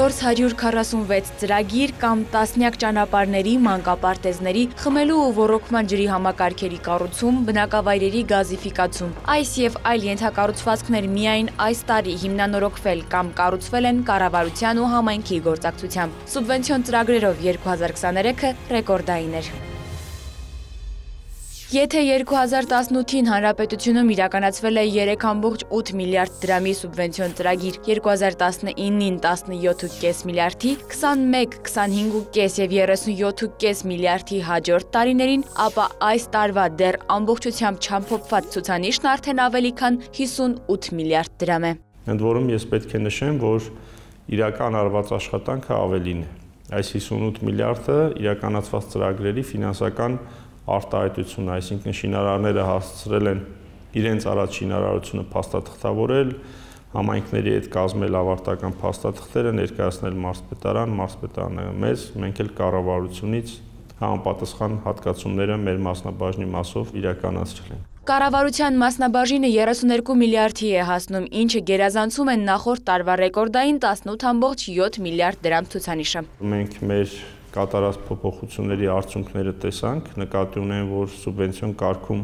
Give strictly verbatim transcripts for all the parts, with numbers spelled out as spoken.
չորս հարյուր քառասունվեց ծրագիր կամ տասնյակ ճանապարհների, մանկապարտեզների, խմելու ու ոռոգման ջրի համակարգերի կառուցում, բնակավայրերի գազիֆիկացում։ Այս եւ այլ ենթակառուցվածքներ միայն այս տարի հիմնանորոգվել կամ կառուցվել են կառավարության ու համայնքի գործակցությամբ։ Սուբվենցիոն ծրագրերով երկու հազար քսաներեքը ռեկորդային էր։ Եթե երկու հազար տասնութին հանրապետությունում իրականացվել է երեք կόμma ութ միլիարդ դրամի սուբվենցիոն ծրագիր, երկու հազար տասնինին տասնյոթ կόμma պենս միլիարդի, քսանմեկ, քսանհինգ կόμma պենս եւ երեսունյոթ կόμma պենս միլիարդի հաջորդ տարիներին, ապա այս տարվա դեռ ամբողջությամբ չամփոփված ցուցանիշն արդեն ավելի քան հիսունութ միլիարդ դրամ է։ Ընդ որում ես պետք է նշեմ, որ իրական արված աշխատանքը ավելին է։ Այս հիսունութ միլիարդը իրականացված ծրագրերի ֆինանսական արտահայտություն, այսինքն շինարարները հասցրել են իրենց առաջ շինարարությունը փաստաթղթավորել, համայնքների հետ կազմել ավարտական փաստաթղթերը, ներկայացնել մարզպետարան, մարզպետարանը մեզ, մենք էլ կառավարությունից համապատասխան հատկացումները մեր մասնաբաժնի մասով իրականացրել ենք։ Կառավարության մասնաբաժինը երեսուներկու միլիարդի է հասնում, ինչը գերազանցում է նախորդ տարվա ռեկորդային տասնութ կόμma յոթ միլիարդ դրամ ցուցանիշը։ Մենք մեր կատարած փոփոխությունների արդյունքները տեսանք, նկատի ունեն, որ սուբվենցիոն կարգում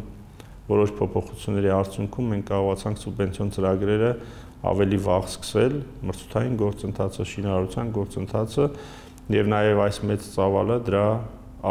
որոշ փոփոխությունների արդյունքում մենք կարողացանք սուբվենցիոն ծրագրերը ավելի վաղ սկսել, մրցութային գործընթացը, շինարարության գործընթացը եւ նաեւ այս մեծ ծավալը դրա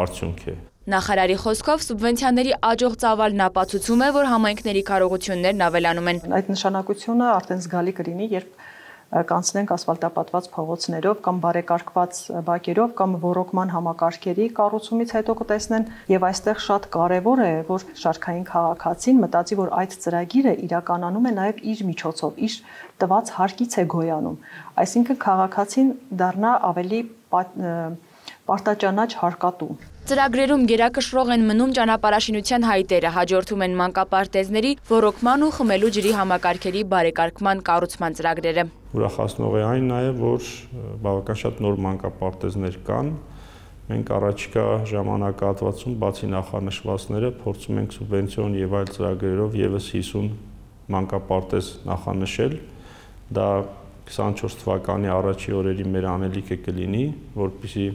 արդյունք է։ Նախարարի խոսքով սուբվենցիաների աճող ծավալն ապացուցում է, որ համայնքների կարողություններն ավելանում են։ Այդ նշանակությունը արդեն զգալի կլինի, երբ կանցնենք ասֆալտապատված փողոցներով կամ բարեկարգված բակերով կամ ոռոգման համակարգերի կառուցումից հետո կտեսնեն եւ այստեղ շատ կարեւոր է, որ շարքային քաղաքացին մտածի, որ այդ ծրագիրը իրականանում է նաեւ իր միջոցով, իր տված հարկից է գոյանում, այսինքն քաղաքացին դառնա ավելի պարտաճանաչ հարկատու։ Ծրագրերում գերակշռող են մնում ճանապարհաշինության հայտերը, հաջորդում են մանկապարտեզների, ոռոգման ու խմելու ջրի համակարգերի բարեկարգման կառուցման ծրագրերը։ Ուրախացնող է այն նաև, որ բավական շատ նոր մանկապարտեզներ կան։ Մենք առաջիկա ժամանակահատվածում բացի նախանշվածները փորձում ենք սուբվենցիոն եւ այլ ծրագրերով եւս հիսուն մանկապարտեզ նախանշել։ Դա քսանչորս թվականի առաջի օրերի մեր անելիքը կլինի, որպեսզի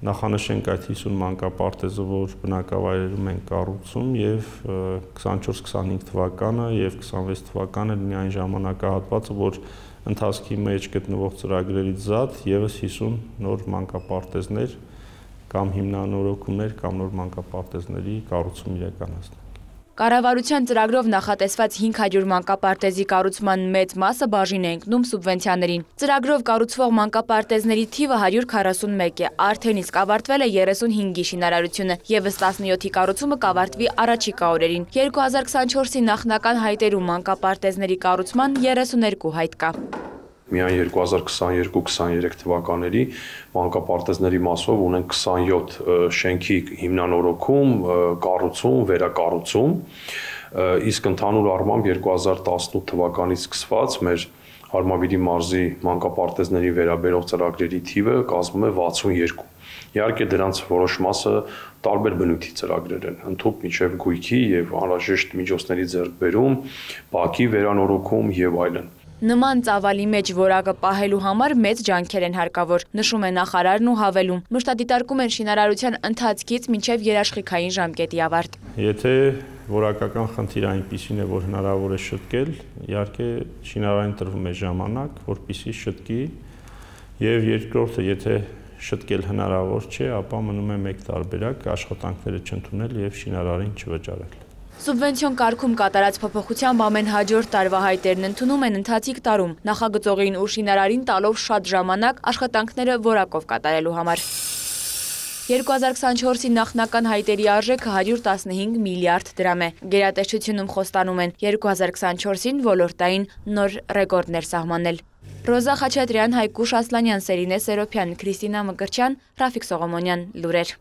նախանշենք այդ հիսուն մանկապարտեզը, որ բնակավայրերում են կառուցում եւ քսանչորս քսանհինգ թվականը եւ քսանվեց թվականը լինի այն ժամանակահատվածը, որ ընթացքի մեջ գտնվող ծրագրերից զատ եւս հիսուն նոր մանկապարտեզներ կամ հիմնանորոգումներ կամ նոր մանկապարտեզների կառուցում իրականացնենք։ Կառավարության ծրագրով նախատեսված հինգ հարյուր մանկապարտեզի կառուցման մեծ մասը բաժին է ընկնում սուբվենցիաներին։ Ծրագրով կառուցվող մանկապարտեզների թիվը հարյուր քառասունմեկ է, արդեն իսկ ավարտվել է երեսունհինգի շինարարությունը, եւս տասնյոթի կառուցումը կավարտվի առաջիկա օրերին։ երկու հազար քսանչորսի նախնական հայտերում մանկապարտեզների կառուցման երեսուներկու հայտ կա։ Միայն երկու հազար քսաներկու քսաներեք թվականների մանկապարտեզների մասով ունենք քսանյոթ շենքի հիմնանորոգում, կառուցում, վերակառուցում, իսկ ընդհանուր առմամբ երկու հազար տասնութ թվականից սկսված մեր Արմավիրի մարզի մանկապարտեզների վերաբերող ծրագրերի թիվը կազմում է վաթսունյոթ։ Իհարկե դրանց որոշ մասը տարբեր բնույթի ծրագրեր են, ընդհանուր մինչև գույքի եւ անհրաժեշտ միջոցների ձեռքբերում, բակի վերանորոգում եւ այլն։ Նման ծավալի մեջ որակը պահելու համար մեծ ջանքեր են հարկավոր, նշում է նախարարն ու հավելում։ Մշտադիտարկում են շինարարության ընթացքից մինչև երաշխիքային ժամկետի ավարտ։ Եթե որակական խնդիրը այնպիսին է, որ հնարավոր է շտկել, իհարկե շինարարին տրվում է ժամանակ, որպեսզի շտկի, եւ երկրորդը, եթե շտկել հնարավոր չէ, ապա մնում է մեկ տարբերակ աշխատանքները չընդունել եւ շինարարին չվճարել։ Սուբվենցիոն կարգում կատարած փոփոխությամբ ամեն հաջորդ տարվա հայտերն ընդունում են ընթացիկ տարում, նախագծողին ու շինարարին տալով շատ ժամանակ աշխատանքները որակով կատարելու համար։ երկու հազար քսանչորսի նախնական հայտերի արժեքը հարյուր տասնհինգ միլիարդ դրամ է։ Գերատեսչությունում խոստանում են երկու հազար քսանչորսին ոլորտային նոր ռեկորդներ սահմանել։ Ռոզա Խաչատրյան, Հայկուշ Ասլանյան, Սերինե Սերոփյան, Քրիստինա Մկրտչյան, Ռաֆիկ Սողոմոնյան, լուրեր։